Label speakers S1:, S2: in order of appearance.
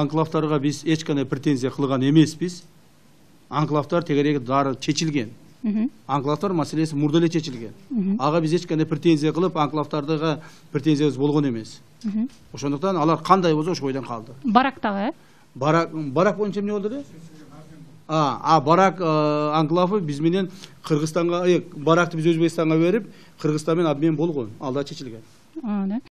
S1: анклавтарга биз эч кандай претензия кылган эмеспиз. Анклавтар тегерек дары чечилген. Анклавтар маселеси мурда эле чечилген. Ага биз эч кандай претензия кылып, анклавтардагы претензиябыз болгон эмес. Ошондуктан алар кандай болсо ошо бойдон калды.
S2: Барактагы?
S1: Барак боюнча эмне болду эле? Барак анклавы биз менен Кыргызстанга, баракты биз Өзбекстанга берип, Кыргызстан менен обмен болгон. Ал да чечилген.